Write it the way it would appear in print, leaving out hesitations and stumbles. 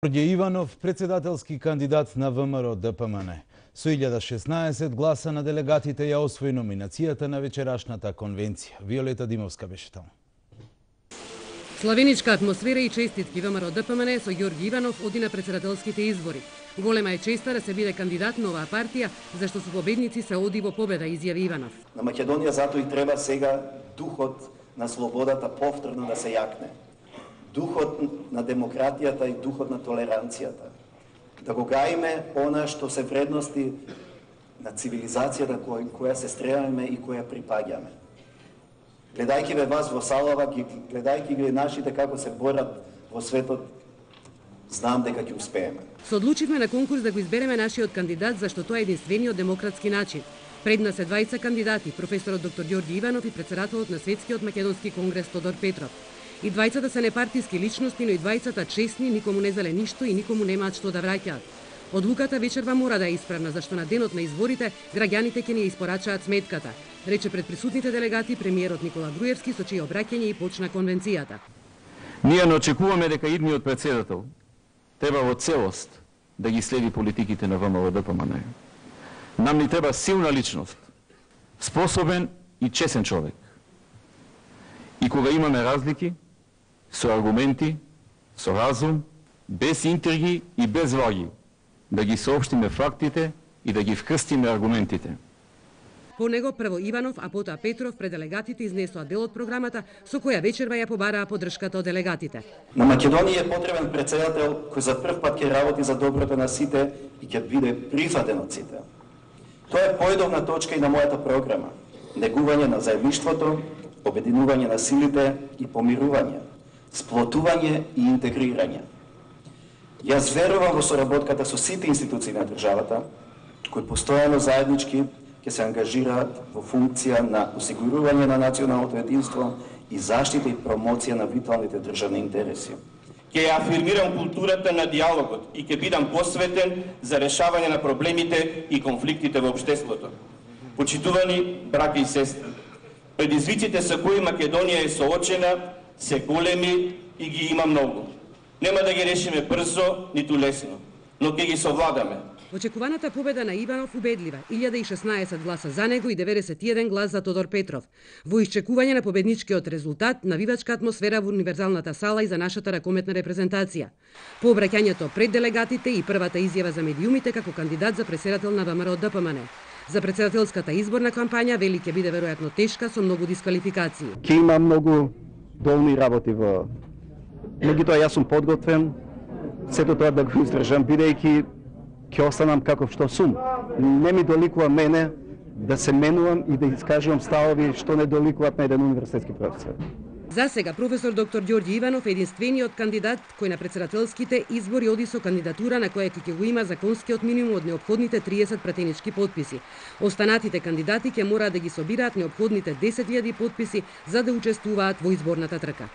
Ѓорѓе Иванов, председателски кандидат на ВМРО ДПМН. Со 1016 гласа на делегатите ја освои номинацијата на вечерашната конвенција. Виолета Димовска беше таму. Славеничка атмосфера и честитки ВМРО ДПМН со Ѓорѓе Иванов оди на председателските избори. Голема е честа да се биде кандидат на оваа партија, зашто со победници се оди во победа, изјави Иванов. На Македонија затоа и треба сега духот на слободата повторно да се јакне. Духот на демократијата и духот на толеранцијата. Да го гаиме она што се вредности на цивилизацијата која се стремаме и која припаѓаме. Гледајќи ве вас во салава, гледајќи ги нашите како се борат во светот, знам дека ќе успееме. Се одлучивме на конкурс да го избереме нашиот кандидат, зашто тоа е единствениот демократски начин. Пред нас е двајца кандидати, професорот доктор Ѓорѓе Иванов и председателот на Светскиот македонски конгрес Тодор Петров. И двајцата се непартиски личности, но и двајцата честни, никому не зале ништо и никому немаат што да враќаат. Одлуката вечерва мора да е исправна, зашто на денот на изборите граѓаните ќе ни испорачаат сметката, рече пред присутните делегати премиерот Никола Груевски, со чие обраќање и почна конвенцијата. Ние не очекуваме дека идниот председател треба во целост да ги следи политиките на ВМРО ДПМН. Нам ни треба силна личност, способен и чесен човек. И кога имаме разлики, со аргументи, со разум, без интриги и без враги, да ги соопштиме фактите и да ги вкрстиме аргументите. По него прво Иванов, а потоа Петров пред делегатите изнесоа дел од програмата со која вечерва ја побараа поддршката од делегатите. На Македонија е потребен председател кој за прв пат ќе работи за доброто на сите и ќе биде прифатен од сите. Тоа е поедовна точка и на мојата програма. Негување на заедништвото, обединување на силите и помирување, сплотување и интегрирање. Јас верувам во соработката со сите институции на државата, кои постојано заеднички ќе се ангажираат во функција на осигурување на националното единство и заштита и промоција на виталните државни интереси. Ќе ја афирмирам културата на диалогот и ќе бидам посветен за решавање на проблемите и конфликтите во општеството. Почитувани браќа и сестри, предизвиците со кои Македонија е соочена се големи и ги има многу. Нема да ги решиме брзо, ниту лесно, но ќе ги совладаме. Очекуваната победа на Иванов убедлива, 1016 гласа за него и 91 глас за Тодор Петров. Во исчекување на победничкиот резултат, навивачка атмосфера во универзалната сала и за нашата ракометна репрезентација. По обраќањето пред делегатите и првата изјава за медиумите како кандидат за председател на ВМРО ДПМН. За председателската изборна кампања вели ќе биде веројатно тешка со многу дисквалификации. Ќе има многу долни работи во. Меѓутоа јас сум подготвен сето тоа да го издржам, бидејќи ќе останам каков што сум. Не ми доликува мене да се менувам и да искажувам ставови што не доликуваат на еден универзитетски професор. За сега професор доктор Ѓорѓе Иванов е единствениот кандидат кој на председателските избори оди со кандидатура на која ќе го има законскиот минимум од неопходните 30 пратенички потписи. Останатите кандидати ќе мораат да ги собираат неопходните 10.000 потписи за да учествуваат во изборната трка.